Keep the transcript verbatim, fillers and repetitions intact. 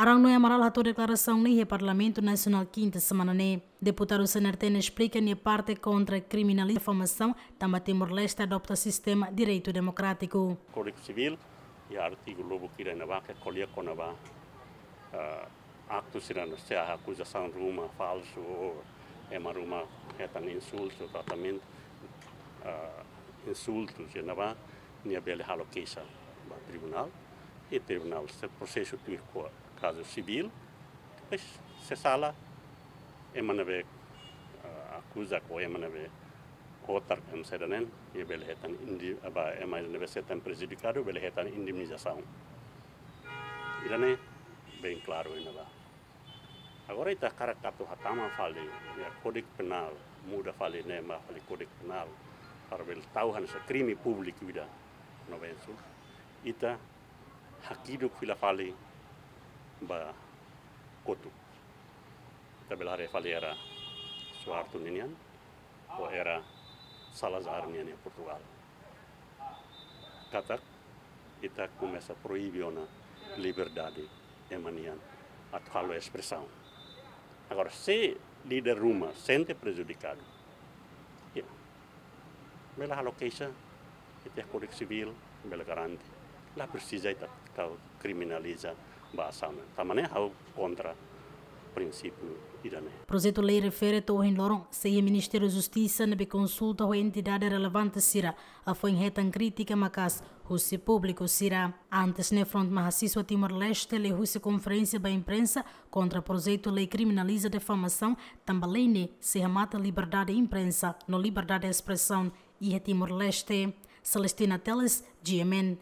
Arão Noé Amaral hato'o deklarasaun ne'e iha Parlamentu Nasionál kinta semana ne'e. Deputadu C N R T ne'e esplika nia parte kontra kriminaliza difamasaun, tanba Timor-Leste adota sistema direitu demokrátiku. Kódigu Sivíl, iha artigu lubuk ida ne'ebá ke ko'alia kona-ba, ah, aktu sira ne'ebé sei akuzasaun ruma falsu ou ema ruma hetan insultu, tratamentu, ah, insultu, sira ne'ebá, nia bele halo keixa ba tribunál, i tribunál sei prosesa tuir kazu sivíl, depois se sala, ema ne'ebé, ah, akuza ka ema ne'ebé hotar ka ema saida ne'e, nia bele hetan indi-, ba ema ne'ebé sei hetan prejudikadu, bele hetan indemnizasaun. Ida-ne'e bem klaru iha ne'ebá. Agora ita hakarak atu hatama fali, iha Kódigu Penál, muda fali ne'e ba fali Kódigu Penál, para bele tau hanesan krime públiku ida, no bensu. Ita hakiduk fila fali ba kotuk. Ita bele haree fali era Suharto ninian, ou era Salazar nian iha Portugal. Katak ita komesa proibe ona liberdade ema nian atu halo espresaun. Agora, se líder ruma sente prejudikadu, ya, bele halo keixa, ita-nia Kódigu Sivíl bele garante. La presiza ita tau kriminaliza ba asaun. Tanba ne'e ha'u kontra prinsípiu ida-ne'e. Projetu lei refere to'o ohin loron sei iha Ministériu Justisa ne'ebé konsulta ho entidade relevante sira, hafoin hetan krítika maka'as husi públiku sira. Antes ne'e Front Mahasiswa Timor-Leste liuhusi konferénsia ba imprensa kontra projetu lei kriminaliza difamasaun, tanba lei ne'e sei hamate liberdade imprensa no liberdade espresaun iha Timor-Leste. Celestina Teles, G M N.